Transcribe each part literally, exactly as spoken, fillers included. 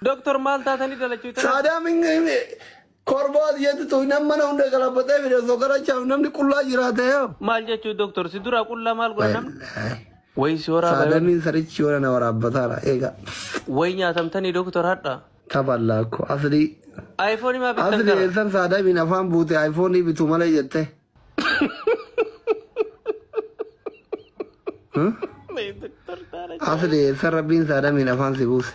Doktor maal taatanii dalachuu tana? Saadaam korbaat jettu nama mana hunda galabatee fide osoo gara namni qullaa jiraate yoo. Maal jechuu doktor si dura qullaa maal godha namni? Wayi si waraabaa. Saadaamiin sarichi yoona na waraabbataadha eega. Wayi nyaatamtanii doktor hadha. Taballaakko aslii. iPhone maa bittan Asli gara? eessan saadaamiin afaan buute iPhone bitu malee jette. Asli eessan rabbiin saadaamiin afaan si buuse.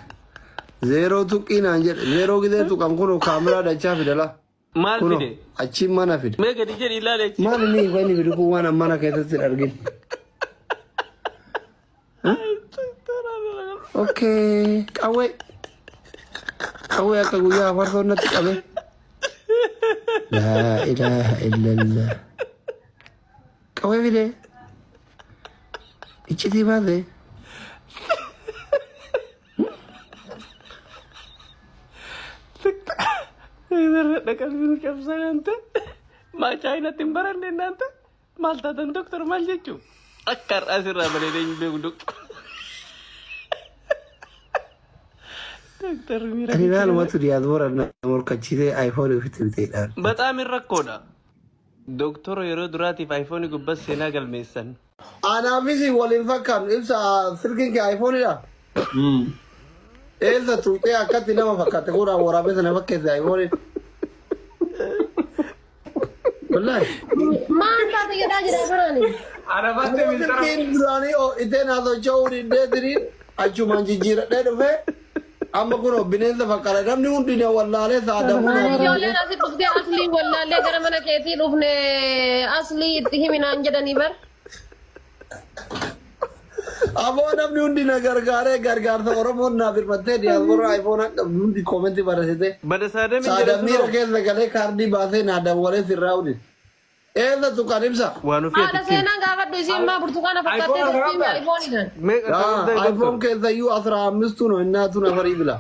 Zeeroo tuqqii naan jedhe zeeroo gidee tuqan kunoo kaameraa dachaa fidala. Maal Kunoo fide? achiin mana fide. Mee gadi jedhi ilaali achi. Maal inni ifa inni fidu kun waan mana keessatti hin argin. Okay, qawwee. Qawwee akka guyyaa afarsoon natti qabe. Laa ilaaha illallah. Qawwee fide. Iccitii baase. Dhaqalbiin cabsan ante. Maa chaayinaatti hin baranne naante. Maal taatan doktor maal jechuu? Akka har'aa sirraa bareedee hin beeku doktor. Doktor miira. Ani maalumatu diyaaspoora na morkachiisee iPhone ofitti biteedhaan. Bataam hin rakkoodha. Doktora yeroo duraatiif iPhone gubbas seenaa galmeessan. Anaafis waliin fakkaatu ibsa silkiin kee iPhoneidha. Eessa tuuqee akkatti nama fakkaate kuudhaan waraabee sana fakkeesse iPhone. Wallaahi. Maal taate jedhaa jira biraani? Arabaatti mintara. Silkiin duraanii itteen haasawachuu diddeetiniin achumaan jijjiiradhee dhufee amma kunoo bineensa fakkaata namni hundi na wallaalee saadamuu na Ijoolleen asii dhuftee aslii wallaallee gara mana keetii dhufne aslii itti himinaan jedhanii bar. Aboo namni hundi na gargaaree gargaarsa Oromoon naaf hirmattee diyaaspoora iPhone akka hundi koomentii barreessite. Bada saadamiin Saadamiira jedhan keessa galee kaardii baasee naa dawwalee sirraa hundi. Eessa tuqan ibsa? waan ofii Haadha ati ittiin. seenaa gaafadhu isiin maa burtukaana fakkaattee iPhone turtii qabdaa? iPhone kan. Meeqa qabda iPhone doktor? keessa iyyuu asira አምስቱ ነው እናቱ ነፈር ይብላ።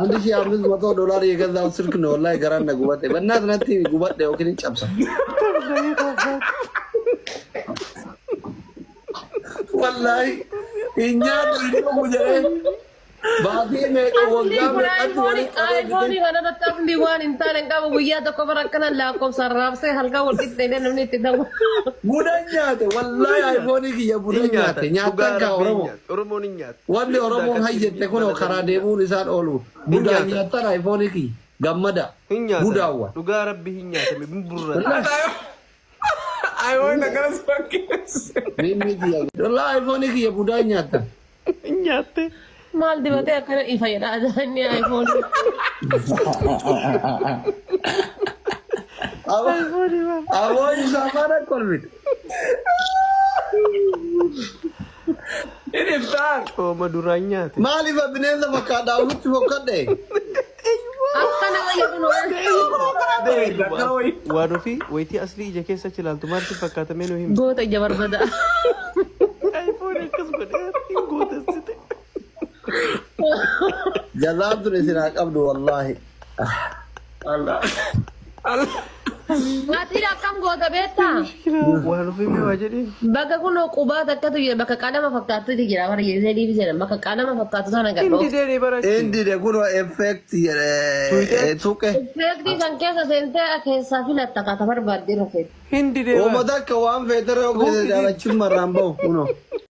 አንድ ሺህ አምስት መቶ ዶላር የገዛው ስልክ ነው ወላሂ ገራነ ጉበቴ በእናት ነቲ ጉበቴ ዮኪን ጨብሳ ወላሂ እኛ ድሮ ጀሬ ባቲ meeqa Aslii waggaa kun meeqatti iPhone walitti qabee iPhone bite kanarratti aslii waan hin taane hin qabu guyyaa tokko bara akkanan lakkoofsaan raabsee halkan wal qixxeedee namni itti ta'u. budan nyaate wallahi iPhone kiyya budan Hin nyaate nyaatan. nyaatan Dhugaa kaa rabbii hin Oromoo nyaatu. Oromoon hin nyaatu. wanni Oromoon hayyette kun karaa deemuun isaan oolu budan nyaatan. nyaatan iPhone kiyya gammada Hin nyaatan. budaawwa Dhugaa rabbii hin nyaatame. Hin burrata. iPhone akkanas fakkeesse. Wallahi iPhone kiyya budan nyaatan. Hin nyaatte. Maal dibatee akkana ifa jedha inni iPhone. Aboo isaa mana kolfite. Inni iftaan. Cooma duraan nyaate. Maaliif bineensa fakkaata ofitti fokkadhe? Akkana wayya kun Waan ofii wayitii aslii ija keessa achi ilaaltu maaltu fakkaatamee nu himi. goota ija barbada. iPhone akkas godhee hin gootessite. Jazaan tun isin haa qabdu wallaahi. Allah. Allah. Maatiin akkam goota beektaa? Waan ofii mee waa jedheen. Bakka kun qubaa takkatu jira bakka qalama fakkaattutu jira bara jedhee jedhan bakka qalama fakkaattu sana Hin gadhoo. didee barachi. Inni de kun effect jedhee tuqe. Effeektii kan keessa seentee keessaa filatta kaata barbaaddee rafeet. Hin didee bara. Uummata akka waan feetere ogeesse jaalachuun marraan bahu kunoo.